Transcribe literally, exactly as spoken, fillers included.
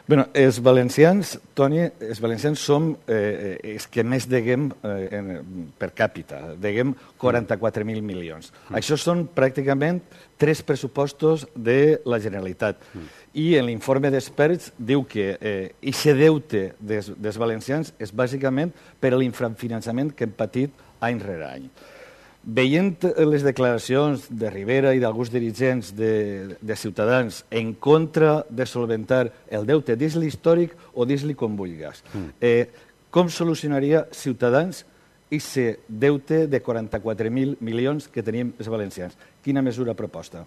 Bé, els valencians, Toni, els valencians som eh, els que més deguem eh, en, per càpita, deguem quaranta-quatre mil milions. Mm. Això són pràcticament tres pressupostos de la Generalitat. Mm. I en l'informe d'experts diu que aquest eh, deute des, dels valencians és bàsicament per l'infrafinançament que hem patit any rere any. Veient les declaracions de Rivera i d'alguns dirigents de, de Ciutadans en contra de solventar el deute, dis-li històric o dis-li com vulguis, mm. eh, com solucionaria Ciutadans aquest deute de quaranta-quatre mil milions que tenim els valencians? Quina mesura proposta?